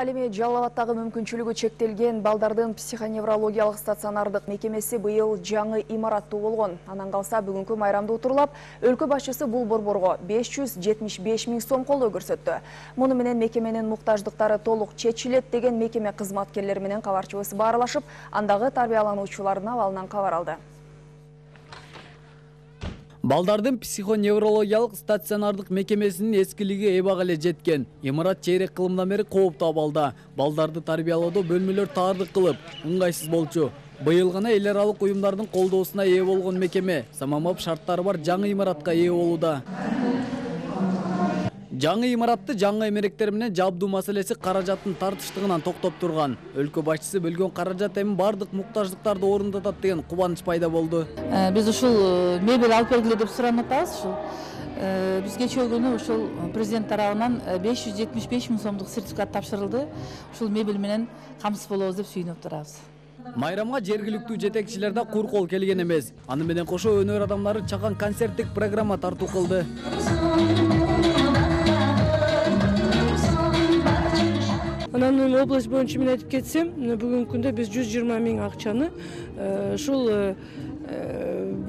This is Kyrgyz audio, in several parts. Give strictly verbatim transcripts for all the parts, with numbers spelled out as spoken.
Ал эми Жалал Абадтагы мүмкүнчүлүгү чектелген балдардын психоневрологиялык стационардык мекемеси быйыл жаңы имараттуу болгон. Анан калса бүгүнкү майрамды утурлап, өлкө башчысы бул борборго беш жүз жетимиш беш миң сом колдоо көрсөттү. Муну менен мекеменин муктаждыктары толук чечилет деген мекеме кызматкерлери менен кабарчыбыз баарлашып, андагы тарбиялануучулардын абалынан кабар алды. Балдардын психоневрологиялык стационардык мекемесинин эскилиги эбак эле жеткен. Имарат чейрек кылымдан бери кооптуу абалда. Балдарды тарбиялоодо бөлмөлөр таардык кылып, ыңгайсыз болчу. Быйыл гана эл аралык уюмдардын колдоосуна ээ болгон мекеме самамап шарттары бар жаңы имаратка ээ болууда. Жаңы имаратты жаңы эмеректер менен жабдуу маселеси каражаттын тартыштыгынан токтоп турган. Өлкө башчысы бөлгөн каражат эми бардык муктаждыктарды орундатат деген кубаныч пайда болду. Биз ушул мебель алып бергиле деп суранып атабыз. Ушул биз кечээ күнү ушул президент тарабынан беш жүз жетимиш беш миң сомдук сертификат тапшырылды. Ушул мебель менен камсыз болобуз деп сүйүнүп турабыз. Майрамга жергиликтүү жетекчилер да кур кол келген эмес. Аны менен кошо өнөр адамдары чакан концерттик программа тартуу кылды. Анан область боюнча мен айтып кетсем, бүгүнкү күндө биз жүз жыйырма миң акчаны ушул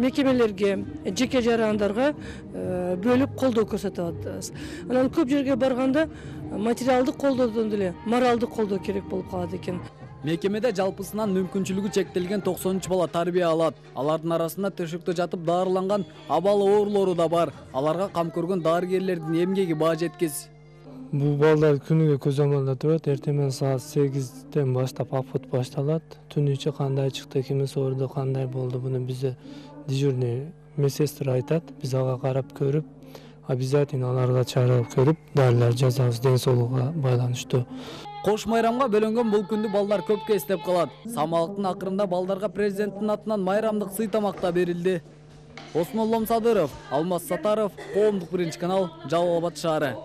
мекемелерге, жеке жарандарга бөлүп колдоо көрсөтүп атабыз. Анан көп жерге барганда материалдык колдоодон деле моралдык колдоо керек болуп калат экен. Мекемеде жалпысынан мүмкүнчүлүгү чектелген токсон үч бала тарбия алат. Алардын арасында төшөктө жатып даарыланган абал оорулору да бар. Аларга кам көргөн дарыгерлердин эмгеги баа жеткис. Бул балдар күнүгө көз амалда турат. Эртең саат сегизден баштап апот башталат. Түн ичи кандай чыкты, ким соорду, кандай болду, буну бизде дежурный медсестра айтат. Биз ага карап көрүп, обязательно аларга чаралап көрүп, дарылар жазабыз ден соолугуна байланыштуу. Кош майрамга бөлөнгөн бул күндү балдар көпкө эстеп калат. Самалыктын акырында балдарга президенттин атынан майрамдык сый тамак да берилди. Осмон Ломсадыров, Алмаз Сатаров, Коомдук биринчи канал, Жалал Абад шаары.